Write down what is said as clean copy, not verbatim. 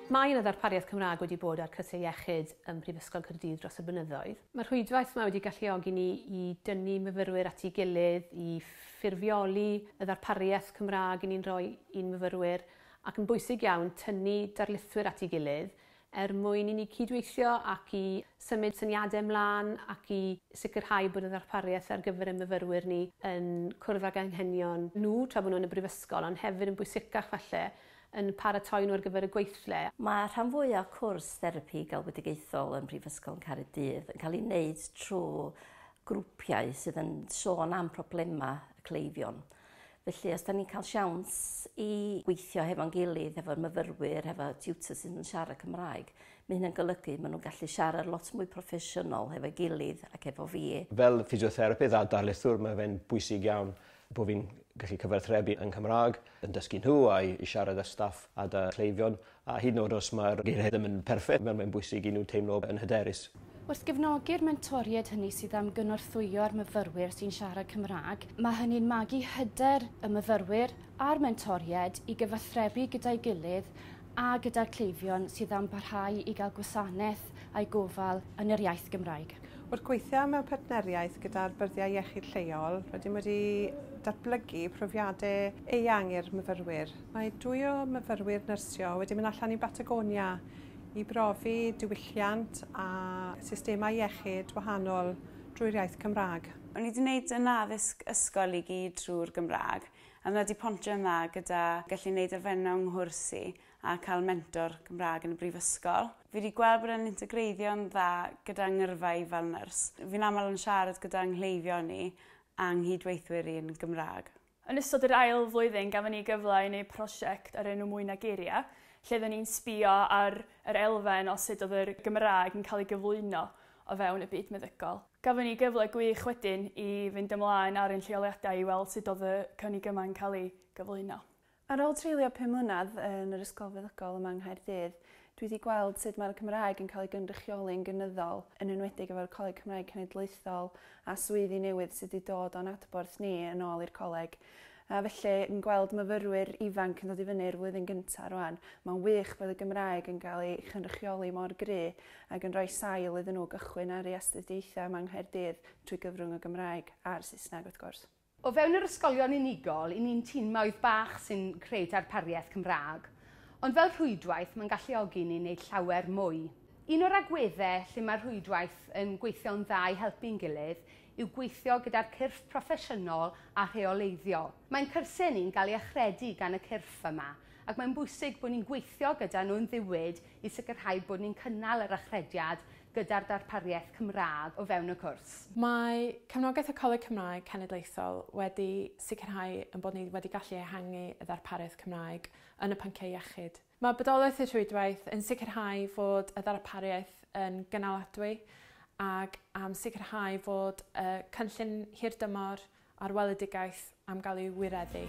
Mae yna ddarpariaeth Cymraeg wedi bod ar cyrsiau iechyd ym Mhrifysgol Caerdydd dros y blynyddoedd. Mae'r rhwydwaith yma wedi galluogi ni i dynnu myfyrwyr at ei gilydd, i ffurfioli y ddarpariaeth Cymraeg i ni'n rhoi i'n myfyrwyr, ac yn bwysig iawn tynnu darlithwyr at ei gilydd er mwyn i ni cydweithio ac i symud syniadau ymlaen ac i sicrhau bod y ddarpariaeth ar gyfer y myfyrwyr ni yn cwrdd ag anghenion nhw tra bod nhw yn y brifysgol, ond hefyd yn bwysicach falle yn paratoi nhw ar gyfer y gweithle. Mae rhan fwyaf cwrs therapi galwedigaethol yn Prifysgol Caerdydd yn cael ei wneud trwy grwpiau sydd yn sôn am problemau y cleifion. Felly, os da ni'n cael siawns i gweithio hefo'n gilydd, hefo'r myfyrwyr, hefo tutors sydd yn siarad Cymraeg, mae hynny'n golygu maen nhw'n gallu siarad lot mwy proffesiynol hefo'i gilydd ac efo fi. Fel ffisiotherapydd a darlithwr, mae fe'n bwysig iawn bod fi'n gallu cyfathrebu yn Cymraeg, yn dysgu nhw a i siarad â staff a 'da cleifion, a hyd yn oed os mae'r geiriau ddim yn perffaith, mae'n bwysig i nhw teimlo yn hyderus. Wrth gefnogi'r mentoriaid hynny sydd am gynorthwyo'r myfyrwyr sy'n siarad Cymraeg, mae hynny'n magu hyder y myfyrwyr a'r mentoriaid i gyfathrebu gyda'i gilydd a gyda'r cleifion sydd am barhau i gael gwasanaeth a'i gofal yn yr iaith Gymraeg. Wrth gweithio mewn partneriaeth gyda'r byrddiau iechyd lleol, rydym wedi datblygu profiadau eang i'r myfyrwyr. Mae dwy o myfyrwyr nyrsio wedi mynd allan i Batagonia i brofi diwylliant a systemau iechyd wahanol drwy'r iaith Cymraeg. O'n i wedi gwneud yn addysg ysgol i gyd trwy'r Gymraeg, a mae wedi pontio yn dda gyda gallu gwneud elfennau 'nghwrs i a cael mentor Cymraeg yn y brifysgol. Fi wedi gweld bod e'n integreiddio'n dda gyda ngyrfa i fel nyrs. Fi'n aml yn siarad gyda nghleifion ni a nghydweithwyr i yn Gymraeg. Yn ystod yr ail flwyddyn gafon ni gyfle i wneud prosiect ar enw Mwy na Geiriau, lle oedden ni'n sbio ar yr elfen o sut oedd yr Gymraeg yn cael ei gyflwyno o fewn y byd meddygol. Gafon ni gyfle gwych wedyn i fynd ymlaen ar ein lleoliadau i weld sut oedd y cynnig yma'n cael ei gyflwyno. Ar ôl treulio 5 mlynedd yn yr Ysgol Feddygol yma yng Nghaerdydd, dwi wedi gweld sut mae'r Cymraeg yn cael ei gynrychioli'n gynyddol, yn enwedig efo'r Coleg Cymraeg Cenedlaethol a swyddi newydd sydd wedi dod o'n adborth ni yn ôl i'r coleg. A felly, yn gweld myfyrwyr ifanc yn dod i fyny i'r flwyddyn gyntaf rwan, mae'n wych bod y Gymraeg yn cael ei chynrychioli mor gry ac yn rhoi sail iddyn nhw gychwyn ar eu astudiaethau yma yng Nghaerdydd trwy gyfrwng y Gymraeg a'r Saesneg wrth gwrs. O fewn yr ysgolion unigol, i ni'n tîmoedd bach sy'n creu darpariaeth Cymraeg, ond fel rhwydwaith mae'n galluogi ni wneud llawer mwy. Un o'r agweddau lle mae'r rhwydwaith yn gweithio'n dda i helpu'n gilydd yw gweithio gyda'r cyrff proffesiynol a rheoleiddio. Mae'n cyrsiau ni'n cael ei achredu gan y cyrff yma, ac mae'n bwysig bod ni'n gweithio gyda nhw'n ddiwyd i sicrhau bod ni'n cynnal yr achrediad gyda'r darpariaeth Cymraeg o fewn y cwrs. Mae cefnogaeth y Coleg Cymraeg Cenedlaethol wedi sicrhau ein bod ni wedi gallu ehangu y ddarpariaeth Cymraeg yn y pynciau iechyd. Mae bodolaeth y rhwydwaith yn sicrhau fod y ddarpariaeth yn gynaladwy ac am sicrhau fod y cynllun hirdymor a'r weledigaeth am gael ei wireddu.